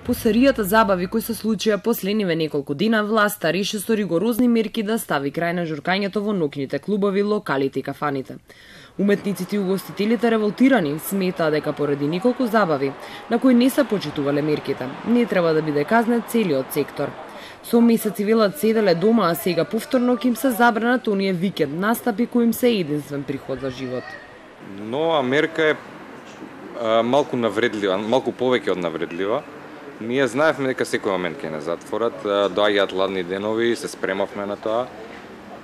По серијата забави кои се случија последниве неколку дена, власта реши со ригорозни мерки да стави крај на журкањето во ноќните клубови, локалите и кафаните. Уметниците и угостителите револтирани сметаа дека поради неколку забави, на кои не се почитувале мерките, не треба да биде казнет целиот сектор. Со месеци велат седеле дома, а сега повторно ќе им се забранат оние викенд настапи кои им се единствен приход за живот. Но Америка е малку навредлива, малку повеќе од навредлива. Ние знаевме дека секој момент ќе не затворат, доаѓаат ладни денови, се спремавме на тоа.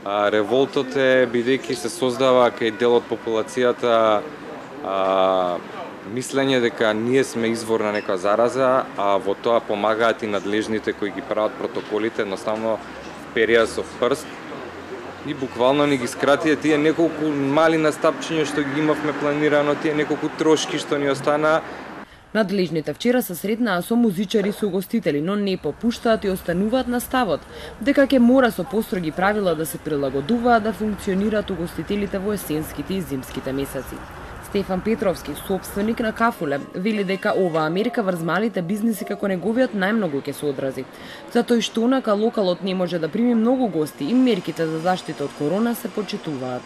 Револтот е бидејќи се создава кај дел од популацијата мислење дека ние сме извор на некоја зараза, а во тоа помагаат и надлежните кои ги прават протоколите, едноставно перија со прст и буквално ни ги скратија тие неколку мали настапчиња што ги имавме планирано, тие неколку трошки што ни останаа. Надлежните вчера се сретнаа со музичари и со угостители, но не попуштаат и остануваат на ставот дека ќе мора со построги правила да се прилагодуваат да функционираат угостителите во есенските и зимските месеци. Стефан Петровски, собственик на Кафуле, вели дека ова Америка врз малите бизниси како неговиот најмногу ќе се одрази. Затоа што онака локалот не може да прими многу гости и мерките за заштита од корона се почитуваат.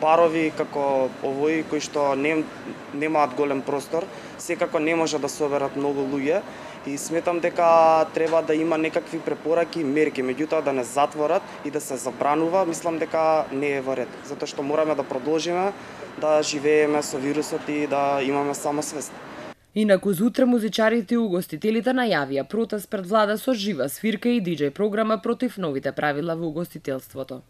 Барови како овои кои што немаат голем простор, секако не може да соберат многу луѓе и сметам дека треба да има некакви препораки и мерки, меѓутоа да не затворат и да се забранува, мислам дека не е во ред, затоа што мораме да продолжиме да живееме со вирусот и да имаме самосвест. Инаку зутре музичарите и угостителите најавија протест пред влада со жива свирка и диџеј програма против новите правила во угостителството.